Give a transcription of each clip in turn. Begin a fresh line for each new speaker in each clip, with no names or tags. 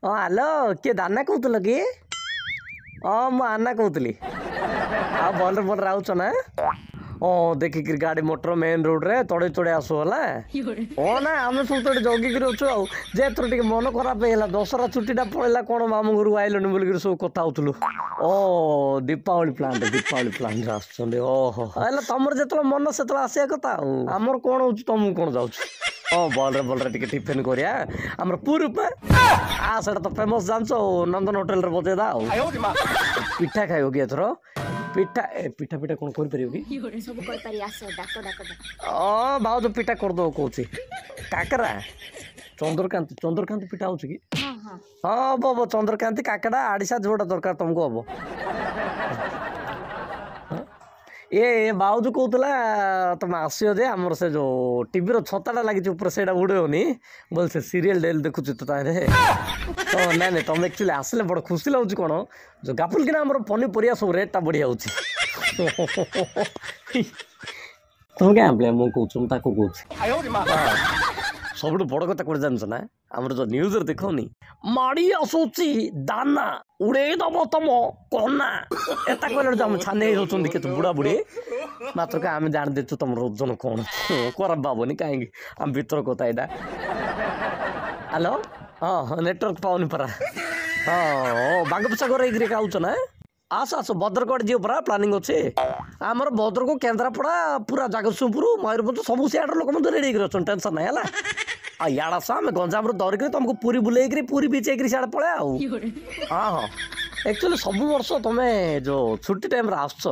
ହଁ ହ୍ୟାଲୋ, କିଏ ଦାନା କହୁଥିଲ କି? ହଁ ମୁଁ ଆନା କହୁଥିଲି। ଆଉ ଭଲରେ ଭଲରେ ଆଉଛ ନା? ହଁ, ଦେଖିକିରି ଗାଡ଼ି ମଟର ମେନ୍ ରୋଡ଼ରେ ତଡ଼େଇ ତଡ଼େଇ ଆସୁ ହେଲା। ହଁ ନା, ଆମେ ସବୁ ତ ଏଠି ଜଗିକିରି ଅଛୁ। ଆଉ ଯେ ଏଥର ଟିକେ ମନ ଖରାପ ହେଇଗଲା, ଦଶହରା ଛୁଟିଟା ପଳେଇଲା, କ'ଣ ମାମୁଁ ଘରକୁ ଆଇଲନି ବୋଲିକିରି ସବୁ କଥା ହଉଥିଲୁ। ଓ ଦୀପାବଳି ପ୍ଲାନ୍ରେ, ଦୀପାବଳି ପ୍ଲାନ୍ରେ ଆସୁଛନ୍ତି। ଓହୋ, ହେଲେ ତମର ଯେତେବେଳେ ମନ ସେତେବେଳେ ଆସିବା କଥା, ଆଉ ଆମର କ'ଣ ହଉଛି, ତମକୁ କ'ଣ ଯାଉଛି? ହଁ, ଭଲରେ ଭଲରେ ଟିକେ ଟିଫିନ୍ କରିବା। ଆମର ପୁରୀ ଉପମା ସେଇଟା ତ ଫେମସ୍ ଜାଣିଛ, ଆଉ ନନ୍ଦନ ହୋଟେଲରେ ବଜେଇଦା। ଆଉ ପିଠା ଖାଇବ କି ଏଥର? ପିଠା ଏ ପିଠା ପିଠା କ'ଣ କରିପାରିବ କି?
ସବୁ କରିପାରି, ଆସ, ଡାକ ଡାକ ଡାକ।
ହଁ, ଭାଉଜ ପିଠା କରିଦେବ କହୁଛି। କାକରା, ଚନ୍ଦ୍ରକାନ୍ତି, ଚନ୍ଦ୍ରକାନ୍ତି ପିଠା ହେଉଛି କି?
ହଁ ହଁ
ହଁ, ହବ ହବ। ଚନ୍ଦ୍ରକାନ୍ତି, କାକରା, ଆଡ଼ିସା, ଯୋଉଟା ଦରକାର ତମକୁ ହବ। ଏ ଭାଉଜ କହୁଥିଲା ତମେ ଆସିବ ଯେ ଆମର ସେ ଯୋଉ ଟିଭିର ଛତାଟା ଲାଗିଛି ଉପରେ, ସେଇଟା ଉଡ଼େଇବନି ବୋଲେ। ସେ ସିରିଏଲ ଡେଲି ଦେଖୁଛୁ ତ ତାହିଁରେ ତ। ନାଇଁ ନାଇଁ, ତମେ ଆକ୍ଚୁଆଲି ଆସିଲେ ବଡ଼ ଖୁସି ଲାଗୁଛି। କ'ଣ ଯୋଉ ଗାଫୁଲ କିନା ଆମର ପନିପରିବା ସବୁ ରେଟ୍ଟା ବଢ଼ିଯାଉଛି। ତମେ କାଇଁ ଆମ୍ବଳିଆ ମୁଁ କହୁଛୁ, ମୁଁ ତାକୁ କହୁଛି। ସବୁଠୁ ବଡ଼ କଥା କୋଉଠି ଜାଣିଛ ନା? ଆମର ଯୋଉ ନ୍ୟୁଜରେ ଦେଖଉନି, ମାଡ଼ି ଆସୁଛି ଦାନା, ଉଡ଼େଇ ଦବ ତମ କନା, ଏତା କହିଲେ ଯୋଉ ଆମେ ଛାନି ହେଇଯାଉଛନ୍ତି କେତେ ବୁଢ଼ା ବୁଢ଼ୀ। ମାତ୍ର ଆମେ ଜାଣିଦେଇଛୁ ତମର ଓଜନ କ'ଣ। ଖରାପ ଭାବନି କାହିଁକି, ଆମ ଭିତର କଥା ଏଇଟା। ହ୍ୟାଲୋ, ହଁ ହଁ, ନେଟୱାର୍କ ପାଉନି ପରା। ହଁ, ବାଙ୍ଗୋପସାଗର ହେଇକିରି ଆଉଛ ନା? ଆସ ଆସ, ଭଦ୍ରକ ଆଡ଼େ ଯିବ ପରା ପ୍ଲାନିଂ ଅଛି। ଆମର ଭଦ୍ରକ, କେନ୍ଦ୍ରାପଡ଼ା, ପୁରା ଜଗତସିଂହପୁର, ମୟୂରଭଞ୍ଜ, ସବୁ ସିଆଡ଼ର ଲୋକ ମଧ୍ୟ ରେଡ଼ି ହେଇକିରି ଅଛନ୍ତି, ଟେନସନ୍ ନାହିଁ ହେଲା। ଆଉ ଇଆଡ଼େ ଆସ, ଆମେ ଗଞ୍ଜାମରୁ ଧରିକିରି ତମକୁ ପୁରୀ ବୁଲେଇକିରି, ପୁରୀ ବିଚ୍ ହେଇକିରି ସିଆଡ଼େ ପଳେଇବା। ଆଉ ହଁ ହଁ, ଆକ୍ଚୁଆଲି ସବୁ ବର୍ଷ ତମେ ଯୋଉ ଛୁଟି ଟାଇମ୍ରେ ଆସୁଛ,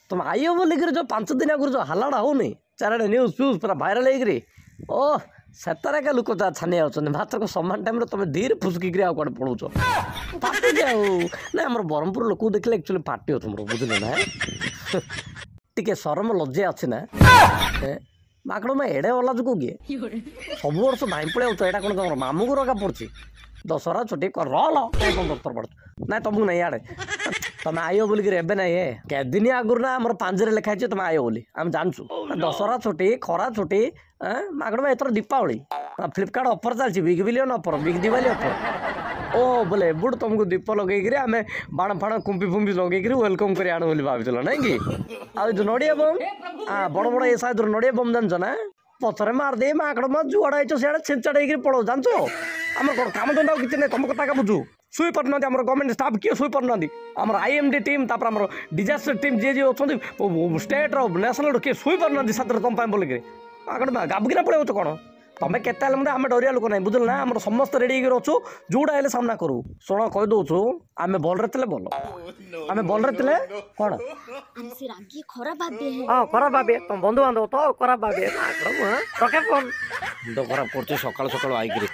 ତମେ ଆଇବ ବୋଲିକିରି ଯୋଉ 5 ଦିନ ଆଗରୁ ଯୋଉ ହାଲାଟା ହଉନି ଚାରିଆଡ଼େ, ନ୍ୟୁଜ୍ ଫ୍ୟୁଜ୍ ପୁରା ଭାଇରାଲ୍ ହେଇକିରି, ଓ ସେତାରେ ଏକା ଲୋକ ତା ଛାନିଆ ହେଉଛନ୍ତି। ମାତ୍ର ସମାନ ଟାଇମ୍ରେ ତମେ ଧୀରେ ଫୁସୁକିକିରି ଆଉ କୁଆଡ଼େ ପଳଉଛ, ଫାଟୁଛି। ଆଉ ନାଇଁ, ଆମର ବ୍ରହ୍ମପୁର ଲୋକକୁ ଦେଖିଲେ ଆକ୍ଚୁଆଲି ଫାଟିବ ତମର, ବୁଝିଲ ନା? ଟିକେ ସରମ ଲଜ୍ଜା ଅଛି ନା? ମାଙ୍କଡ଼ ମା, ଏଡ଼େ ଅଲାଜୁକ କିଏ? ସବୁ ବର୍ଷ ଧାଇଁ ପଳେଇ ଆଉଛ, ଏଇଟା କ'ଣ ତମର ମାମୁଁ ଘର ଏକା ପଡ଼ୁଛି? ଦଶହରା ଛୁଟି ରଲ କ'ଣ ଦଫତର ପଡ଼ୁଛୁ? ନାଇଁ, ତମକୁ ନାଇଁ, ଇଆଡ଼େ ତମେ ଆଇବ ବୋଲିକିରି ଏବେ ନାଇଁ, ଏ କେଦିନି ଆଗରୁ ନା ଆମର ପାଞ୍ଜିରେ ଲେଖା ହେଇଛି ତମେ ଆଇବ ବୋଲି, ଆମେ ଜାଣିଛୁ। ଦଶହରା ଛୁଟି, ଖରା ଛୁଟି, ମାଙ୍କଡ଼ ମା, ଏଥର ଦୀପାବଳି ଫ୍ଲିପକାର୍ଟ ଅଫର୍ ଚାଲିଛି, big billion offer, big Diwali offer. ଓ ବୋଲେ ଏବୁଠୁ ତମକୁ ଦୀପ ଲଗେଇକିରି, ଆମେ ବାଣ ଫାଣ କୁମ୍ପି ଫୁମ୍ପି ଲଗେଇକିରି welcome କରି ଆଣୁ ବୋଲି ଭାବିଥିଲ ନାଇଁ କି? ଆଉ ଏ ଯୋଉ ନଡ଼ିଆ ବମ୍, ବଡ଼ ବଡ଼ ଏ ସାଇଜ୍ର ନଡ଼ିଆ ବମ୍ ଜାଣିଛ ନା? ପଛରେ ମାରିଦେଇ ମାଙ୍କଡ଼ ମା, ଯୁଆଡ଼େ ଆଇଛ ସିଆଡ଼େ ଛିଞ୍ଚାଡ଼ ହେଇକିରି ପଳଉ, ଜାଣିଛ? ଆମର କ'ଣ କାମ ଧନ୍ଦା ଆଉ କିଛି ନାହିଁ? ତମ କଥା ବୁଝୁ ଶୋଇପାରୁନାହାନ୍ତି ଆମର ଗଭର୍ଣ୍ଣମେଣ୍ଟ ଷ୍ଟାଫ୍, କିଏ ଶୋଇପାରୁନାହାନ୍ତି। ଆମର ଆଇଏମ୍ଡି ଟିମ୍, ତାପରେ ଆମର ଡିଜାଷ୍ଟର ଟିମ୍, ଯିଏ ଯିଏ ଅଛନ୍ତି ଷ୍ଟେଟ୍ର, ନ୍ୟାସନାଲ୍ର, କିଏ ଶୋଇପାରୁନାହାନ୍ତି ସାଥିରେ ତମ ପାଇଁ ବୋଲିକିରି। ମାଙ୍କଡ଼ ମା, ଗାବୁକିନା ପଳେଇଛ କ'ଣ? ତମେ କେତେ ହେଲେ ମଧ୍ୟ ଆମେ ଡରିବା ଲୋକ ନାହିଁ, ବୁଝିଲ ନା? ଆମର ସମସ୍ତେ ରେଡ଼ି ହେଇକି ଅଛୁ, ଯୋଉଟା ହେଲେ ସାମ୍ନା କରୁ। ଶୁଣ, କହିଦେଉଛୁ, ଆମେ ଭଲରେ ଥିଲେ ଭଲ, ଆମେ ଭଲରେ ଥିଲେ କ'ଣ
ଆରେ ସେ ରାଗି ଖରାପ ଭାବିବେ।
ହଁ, ଖରାପ ଭାବିବେ ତମ ବନ୍ଧୁବାନ୍ଧବ ତ ଖରାପ ଭାବିବେ। ରଖେ ଫୋନ୍, ମୁଣ୍ଡ ଖରାପ କରୁଛି ସକାଳୁ ସକାଳୁ ଆଇକିରି।